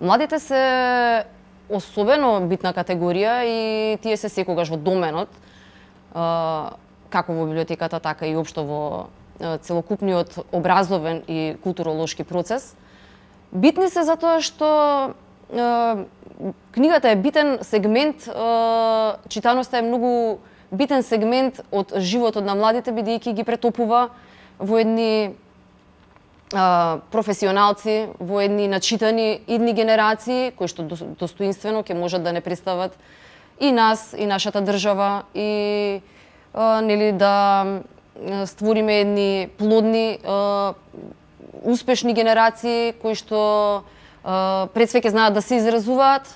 Младите се особено битна категорија и тие се секогаш во доменот, како во библиотеката, така и општо во целокупниот образовен и културолошки процес. Битни се затоа што книгата е битен сегмент, читаноста е многу битен сегмент од животот на младите, бидејќи ги претопува во едни професионалци, во едни начитани идни генерации, кои што достоинствено ќе можат да не представат и нас, и нашата држава, и нели да створиме едни плодни, успешни генерации кои што пред све ќе знаат да се изразуваат,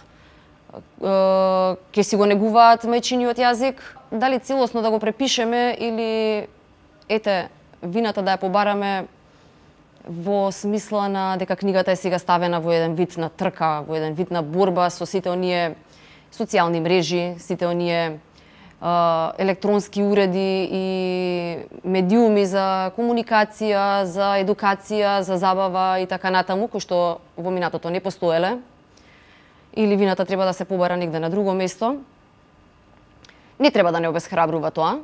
ќе си го негуваат мајчиниот јазик. Дали целосно да го препишеме или вината да ја побараме во смисла на дека книгата е сега ставена во еден вид на трка, во еден вид на борба со сите оние социјални мрежи, сите оние електронски уреди и медиуми за комуникација, за едукација, за забава и така натаму, кои што во минатото не постоеле, или вината треба да се побара негде на друго место. Не треба да не обесхрабрува тоа.